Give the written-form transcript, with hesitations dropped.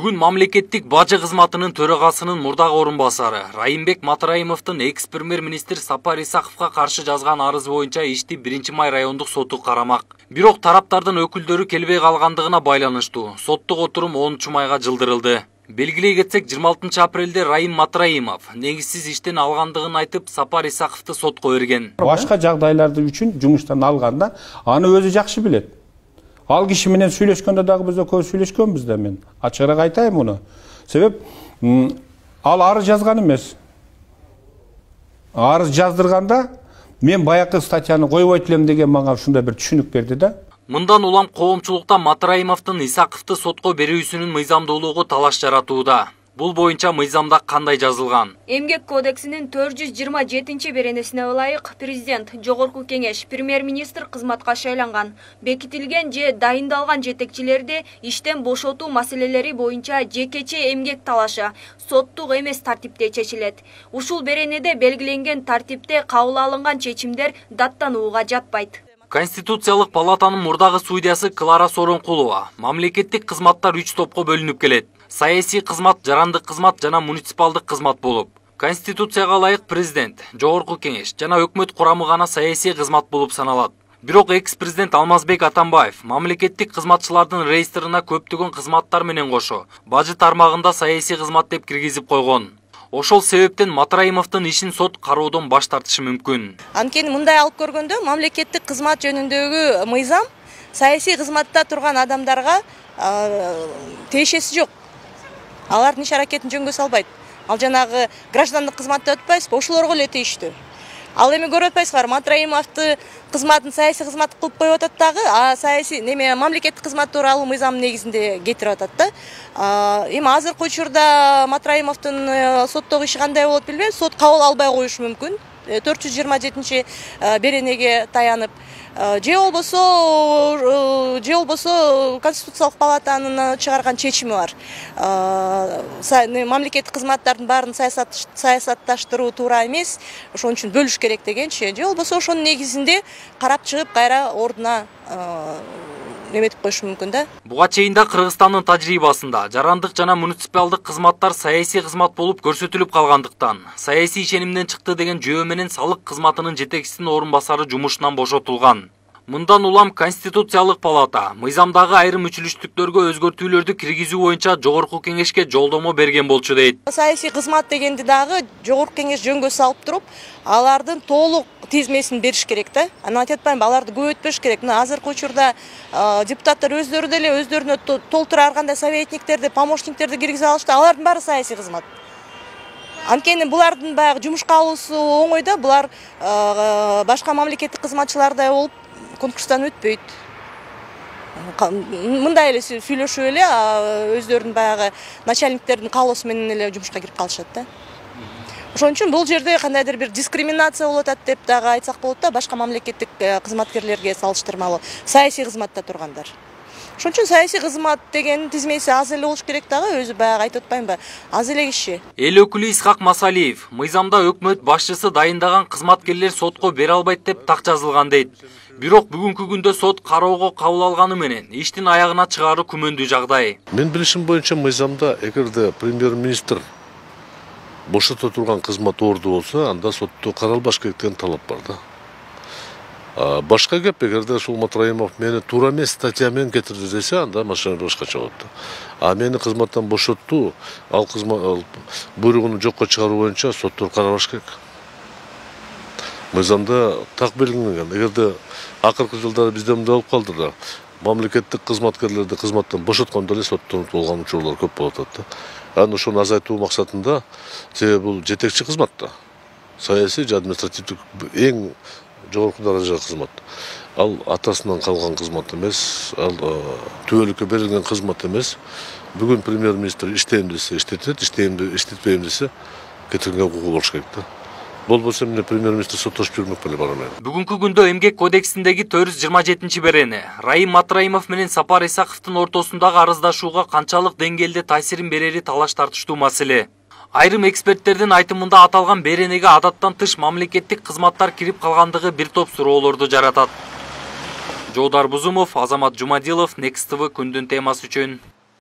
Бүгүн мамлекеттик бажы кызматынын төрагасынын мурдагы орун басары Райымбек Матраимовдун экс-премьер-министр Сапар Исаковго каршы жазган арыз боюнча ишти 1-май райондук соту карамак. Бирок тараптардын өкүлдөрү келбей калгандыгына байланыштуу соттук отурум 10-майга жылдырылды. Белгилей кетсек, 26 апрелде Райым Матраимов негизсиз иштен алгандыгын айтып, Сапар Исаковду сотко берген. Башка жагдайларды үчүн жумуштан алганда аны өзү жакшы билет. Ал киши менен сүйлөшкөндө дагы биз көп сүйлөшкөнбүз да, мен ачыгыраак айтайын муну. Себеп ал арыз жазган эмес. Арыз жаздырганда мен баякы статьяны койбойт элем деген мага ушундай бир түшүнүк берди да. Мындан улам коомчулукта Матраимовдун Исаковду сотко берүүсүнүн мыйзамдуулугу талаш жаратууда. Бул боюнча мыйзамда кандай жазылган? Эмгек кодексинин 427-беренесине ылайык президент Жогорку кеңеш премьер-министр кызматка шайланган, бекитилген же дайындалган жетекчилерди иштен бошотуу маселелери боюнча жекече эмгек талашы соттук эмес тартипте чечилет. Ушул беренеде белгиленген тартипте кабыл алынган чечимдер даттанууга жатпайт. Конституциялык палатанын мурдагы судьясы Клара Соронкулова мамлекеттик кызматтар 3 топко бөлүнүп келет. Саясий кызмат, жарандык кызмат жана муниципалдык кызмат болуп. Конституцияга ылайык президент, жогорку кеңеш жана өкмөт курамы гана саясий кызмат болуп саналат. Бирок экс-президент Алмазбек Атамбаев мамлекеттик кызматчылардын реестрына көптөгөн кызматтар менен кошо бажы тармагында саясий кызмат деп киргизип койгон. Ошол себептен Матраимовдун ишин сот кароодон баш тартышы мүмкүн. Анткени мындай алып көргөндө мамлекеттик кызмат жөнүндөгү мыйзам саясий кызматта турган адамдарга тиешеси жок. Алардын иш аракетин жөнгө салбайт. Ал жанагы граждандык кызматта өтпөйсүзбү, ошолорго эле тийиштүү. Ал эми көрүп атпайсызбы, Матраимовду кызматын саясий кызмат кылып коюп атат дагы, саясий мамлекеттик кызмат тууралуу мыйзам негизинде кетирип атат да. Эми азыркы учурда Матраимовдун соттогу иши кандай болот билбейм, сот кабыл албай коюшу мүмкүн. 427 беренеге таянып, же болбосо Конституциялык палатанын чыгарган чечими бар. Мамлекеттик кызматтардын баарын саясатташтыруу туура эмес, ошон үчүн бөлүш керек дегенчи. Же болбосо ошонун негизинде карап чыгып кайра ордуна неметип коюшу мүмкүн да. Буга чейин да Кыргызстандын тажрыйбасында жарандык жана муниципалдык кызматтар саясий кызмат болуп көрсөтүлүп калгандыктан саясий ишенимден чыкты деген жөө менен салык кызматынын жетекчисинин орун басары жумушунан бошотулган. Мындан улам Конституциялык палата мыйзамдагы айрым үчүлүштүктөргө өзгөртүүлөрдү киргизүү боюнча жогорку кеңешке жолдомо берген болчу дейт. Саясий кызмат дегенди дагы жогорку кеңеш жөнгө салып туруп, алардын толук тизмесин бериш керек да. Анан айтып атпаймынбы, аларды көбөйтпөш керек. Мына азыркы учурда депутаттар өздөрү деле өздөрүнө толтура аргандай советниктерди, помощниктерди киргизе алышты. Алардын баары саясий кызмат. Анткени булардын баягы жумушка алуусу оңой да, булар башка мамлекеттик кызматчылардай болуп конкурстан өтпөйт. Мындай эле сүйлөшүп эле өздөрүнүн баягы начальниктердин каалоосу менен эле жумушка кирип калышат да. Ошон үчүн бул жерде кандайдыр бир дискриминация болуп атат деп дагы айтсак болот да, башка мамлекеттик кызматкерлерге салыштырмалуу, саясий кызматта тургандар. Ошон үчүн саясий кызмат деген тизмеси аз эле болуш керек дагы, өзү баягы айтып атпаймынбы, аз эле киши. Эл өкүлү Исхак Масалиев мыйзамда өкмөт башчысы дайындаган кызматкерлер сотко бере албайт деп так жазылган дейт. Бирок бүгүнкү күндө сот кароого кабыл алганы менен иштин аягына чыгаруу күмөндүү жагдай. Мен билишим боюнча мыйзамда эгерде премьер-министр бошото турган кызмат орду болсо, анда сотто каралбаш керек деген талап бар да. Башка кеп, эгерде ушул Матраимов мени туура эмес статья менен кетирди десе, анда машина башкача болот да. Мени кызматтан бошотту, ал буйругун жокко чыгаруу боюнча соттор карабаш керек. Мыйзамда так белгиленген. Эгерде акыркы жылдары бизде мындай болуп калды да, мамлекеттик кызматкерлерди кызматтан бошоткондо эле соттолуп болгон учурлар көп болуп атат да. Анан ошону азайтуу максатында, себеби бул жетекчи кызмат да. Саясий же административдик эң жогорку даража кызмат. Ал атасынан калган кызмат эмес, ал түбөлүккө берилген кызмат эмес. Бүгүн премьер-министр иштейм десе иштетет, иштетпейм десе кетирген укугу болуш керек да. Болбосо эмне премьер-министр соттошуп жүрмөк беле барам. Бүгүнкү күндө эмгек кодексиндеги 427-берене Райым Матраимов менен Сапар Исаковдун ортосундагы арыздашууга канчалык деңгээлде таасирин берери талаш тартыштуу маселе. Айрым эксперттердин айтымында аталган беренеге адаттан тыш мамлекеттик кызматтар кирип калгандыгы бир топ суроолорду жаратат. Жоодар Бузумов, Азамат Жумадилов, Next TV күндүн темасы үчүн.